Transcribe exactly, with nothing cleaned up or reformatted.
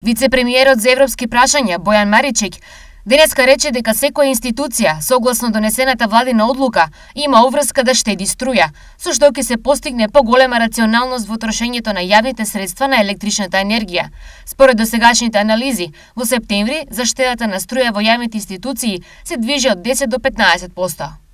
Вице-премиерот за европски прашања Бојан Маричек денеска рече дека секоја институција, согласно донесената владина одлука, има обврска да штеди струја, со што ќе се постигне поголема рационалност во трошењето на јавните средства на електричната енергија. Според досегашните анализи, во септември заштедата на струја во јавните институции се движи од десет до петнаесет проценти.